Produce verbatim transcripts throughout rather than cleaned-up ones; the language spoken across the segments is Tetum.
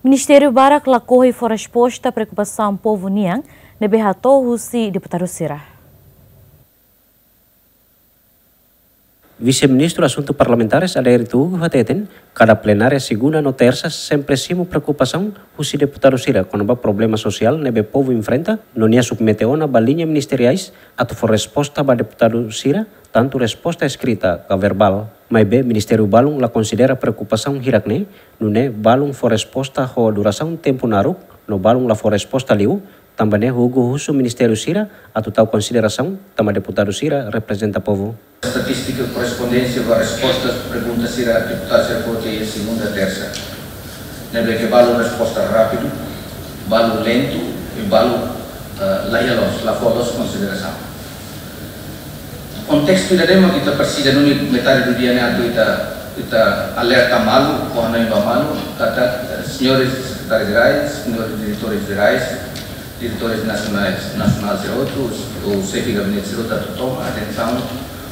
Ministériu barak lakohi fó resposta preokupasaun povu nian ne'ebé hato'o husi deputadu sira. Vise-Ministru Asuntu Parlamentares Adair Tugu hateten, kada plenária segunda no tersa sempre simu preokupasaun husi deputadu sira kona-ba problema sosiál ne'ebé povu enfrenta, no nia submete ona ba liña ministeriais atu fó resposta ba deputadu sira, tantu resposta eskrita ka verbál. Maibé ministériu balun la konsidera preokupasaun hirak-ne'e, nune'e balun fó resposta ho durasaun tempu naruk, no balun la fó resposta liu, tanba ne'e Tugu husu ministériu sira atu tau konsiderasaun, tanba deputadu sira reprezenta povu. Estatístika korrespondénsia ba resposta pergunta sira deputadu sira fó tiha iha segunda, tersa. Ne'ebé ke balun resposta rápidu, balun lentu, i balun, eh, la iha loos, la fó loos konsiderasaun. Kontestu ida-ne'e mak ita presiza duni metade do dia ne'e atu ita, ita alerta malu, ou hanoin ba malu, katak, eh, señores sekretárius jerais, señores diretores jerais, diretores nasionais, nasionál sira hotu, ou xefe gabinete sira hotu atu toma atensaun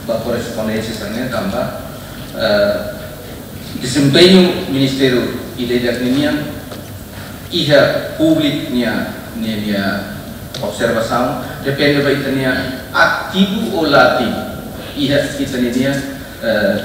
ba korrespondénsia sira-ne'e tanba, eh, dezempeñu ministériu ida-idak ninian iha públiku nia, nia, nia observasaun, depende ba ita-nia ativu ou la ativu iha ita-nia, eh,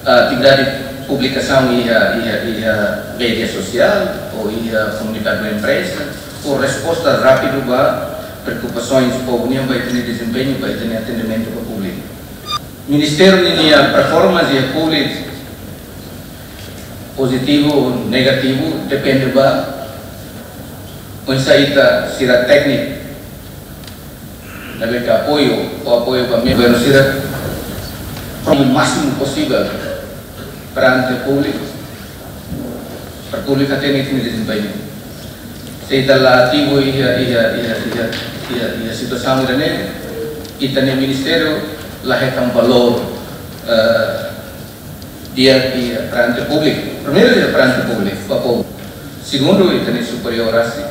atividade publikasaun iha, iha, iha média sosiál, ou iha komunikadu ba imprensa, ou resposta rápidu ba preokupasaun povu nian ba ita-nia dezempeñu, ba ita-nia atendimentu ba públiku. Ministériu ninia performance iha públiku pozitivu ou negativu depende ba oinsá ita sira tékniku ne'ebé ke apoiu, ou apoiu ba membru sira, o másimu posivel perante públiku, para públiku hatene ita-nia dezempeñu. Se ita la ativu iha, iha, iha, iha, iha, iha situasaun ida-ne'e, ita-nia ministériu la hetan valór, eh, di'ak iha perante públiku. Primeiru, iha perante públiku, ba povu. Segundu, ita-nia superiór rasik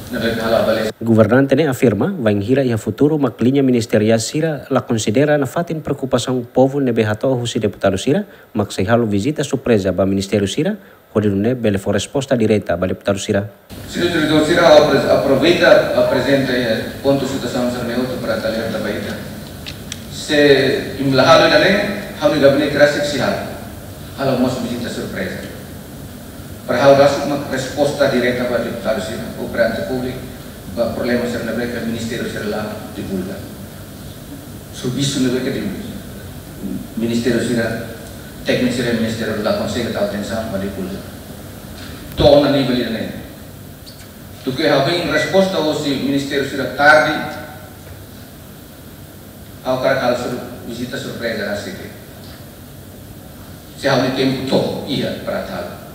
ne'ebé ke halo avaliasaun. Governante ne'e afirma, bainhira iha futuru mak liña ministeriál sira la konsidera nafatin preokupasaun povu ne'ebé hato'o husi deputadu sira, mak sei halo vizita surpreza ba ministériu sira, hodi nune'e bele fó resposta direta ba deputadu sira. Señór diretór sira, ha'u apre-, aproveita aprezenta, eh, pontu situasaun sira-ne'e hotu para atu alerta ba ita. Se imi la halo ida-ne'e, ha'u-nia gabinete rasik sei halo. Halo mós vizita surpreza. Para halo rasik mak resposta direta ba deputadu sira, ou perante públiku, ba problema sira ne'ebé ke ministériu sira la divulga. Servisu ne'ebé ke di ministériu sira, tékniku sira ministériu la konsege tau atensaun ba divulga. To'o ona nivel ida-ne'e. Duké ha'u hein resposta husi ministériu sira tarde, ha'u hakarak halo sur-, vizita surpreza rasik. Se ha'u-nia tempu to'o iha para halo.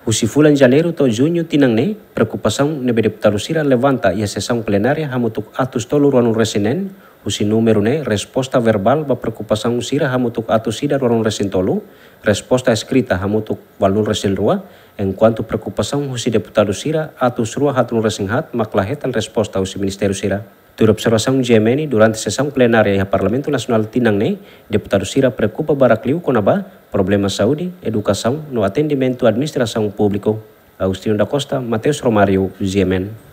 Husi fulan Janeiru to'o Juñu tinan ne'e, preokupasaun ne'ebé deputadu sira levanta iha sesaun plenária hamutuk atus tolu ruanulu-resin-neen, husi númeru ne'e resposta verbál ba preokupasaun sira hamutuk atus ida ruanulu-resin-tolu, resposta eskrita hamutuk ualunulu-resin-rua, enkuantu preokupasaun husi deputadu sira atus rua haatnulu-resin-haat mak la hetan resposta husi ministériu sira. Tuir observasaun GMN, durante sesaun plenária iha Parlamentu Nasionál tinan ne'e, deputadu sira preokupa barak liu kona-ba problema saúde, edukasaun no atendimentu administrasaun públiku. Agostinho da Costa, Mateus Romário, GMN.